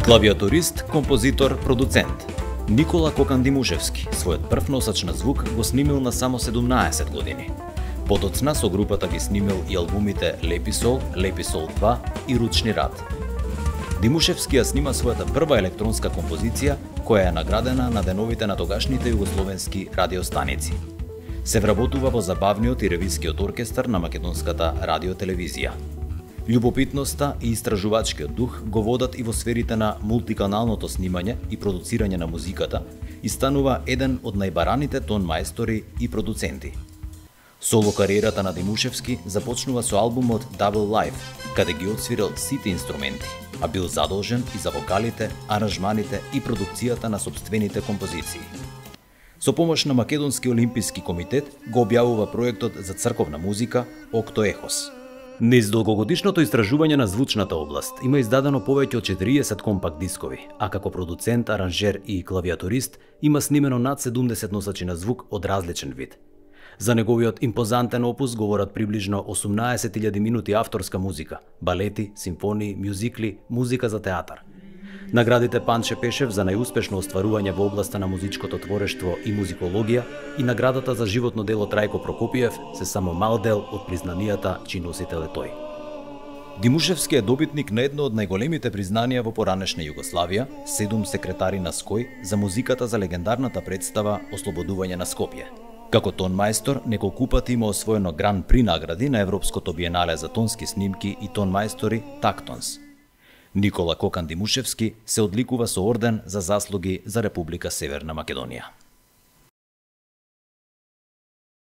Клавиатурист, композитор, продуцент. Никола Кокан Димушевски својот прв носач на звук го снимил на само 17 години. Потоцна со групата ги снимил и албумите Лепи сол 2 и Ручни рад. Димушевски ја снима својата прва електронска композиција, која е наградена на деновите на тогашните југословенски радиостаници. Се вработува во забавниот и ревискиот оркестар на македонската радиотелевизија. Љубопитноста и истражувачкиот дух го водат и во сферите на мултиканалното снимање и продуцирање на музиката и станува еден од најбараните тон мајстори и продуценти. Соло кариерата на Димушевски започнува со албумот Double Life, каде ги отсвирил сите инструменти, а бил задолжен и за вокалите, аранжманите и продукцијата на сопствените композиции. Со помош на Македонски олимписки комитет го објавува проектот за црковна музика Окто Ехос. Низ долгогодишното истражување на звучната област има издадено повеќе од 40 компакт дискови, а како продуцент, аранжер и клавиатурист има снимено над 70 носачи на звук од различен вид. За неговиот импозантен опус говорат приближно 18.000 минути авторска музика, балети, симфонии, мюзикли, музика за театар. Наградите Панче Пешев за најуспешно остварување во областа на музичкото творештво и музикологија и наградата за животно дело Трајко Прокопиев се само мал дел од признанијата чиј носител е тој. Димушевски е добитник на едно од најголемите признанија во поранешна Југославија, 7 секретари на СКОј за музиката за легендарната представа Ослободување на Скопје. Како тон мајстор, неколку пати има освоено Гран При награди на Европското биенале за тонски снимки и тон мајстори Тактонс. Никола Кокан Димушевски се одликува со орден за заслуги за Република Северна Македонија.